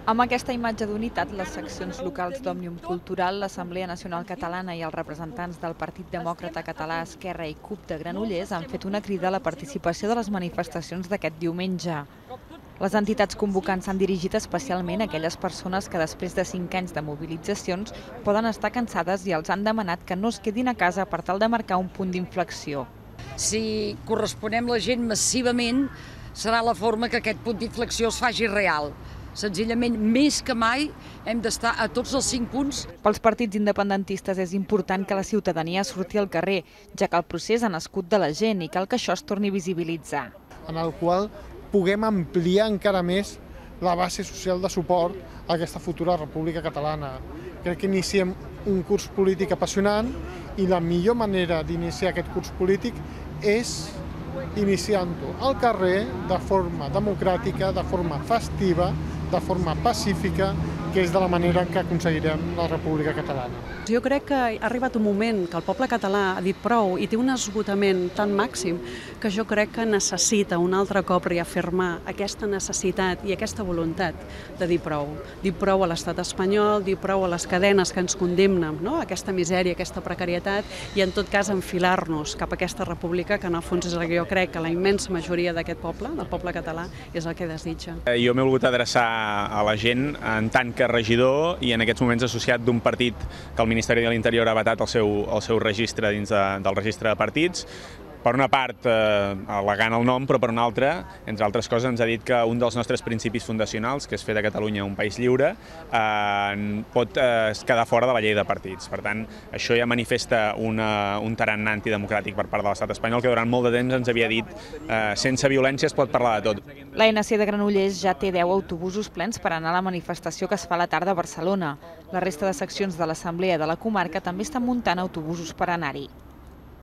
Amb aquesta imatge d'unitat, les seccions locals d'Òmnium Cultural, l'Assemblea Nacional Catalana i els representants del Partit Demòcrata Català, Esquerra i CUP de Granollers han fet una crida a la participació de les manifestacions d'aquest diumenge. Les entitats convocants s'han dirigit especialment a aquelles persones que després de 5 anys de mobilitzacions poden estar cansades i els han demanat que no es quedin a casa per tal de marcar un punt d'inflexió. Si corresponem la gent massivament, serà la forma que aquest punt d'inflexió es faci real. Senzillament, més que mai, hem d'estar a tots els 5 punts. Pels partits independentistes és important que la ciutadania surti al carrer, ja que el procés ha nascut de la gent i cal que això es torni a visibilitzar. En el qual puguem ampliar encara més la base social de suport a aquesta futura República Catalana. Crec que iniciem un curs polític apassionant i la millor manera d'iniciar aquest curs polític és iniciant-ho al carrer de forma democràtica, de forma festiva, de forma pacífica, que és de la manera que aconseguirem la República Catalana. Jo crec que ha arribat un moment que el poble català ha dit prou i té un esgotament tan màxim que jo crec que necessita un altre cop reafirmar aquesta necessitat i aquesta voluntat de dir prou. Dir prou a l'estat espanyol, dir prou a les cadenes que ens condemnen, no? Aquesta misèria, aquesta precarietat i en tot cas enfilar-nos cap a aquesta república que en el fons és el que jo crec que la immensa majoria d'aquest poble, del poble català, és el que desitja. Jo m'he volgut adreçar a la gent en tant que regidor i en aquests moments associat d'un partit que el Ministeri de l'Interior ha vetat el seu registre dins del registre de partits. Per una part, al·legant el nom, però per una altra, entre altres coses, ens ha dit que un dels nostres principis fundacionals, que és fer de Catalunya un país lliure, pot quedar fora de la llei de partits. Per tant, això ja manifesta un tarannà antidemocràtic per part de l'estat espanyol, que durant molt de temps ens havia dit sense violència es pot parlar de tot. L'ANC de Granollers ja té 10 autobusos plens per anar a la manifestació que es fa a la tarda a Barcelona. La resta de seccions de l'Assemblea de la comarca també estan muntant autobusos per anar-hi.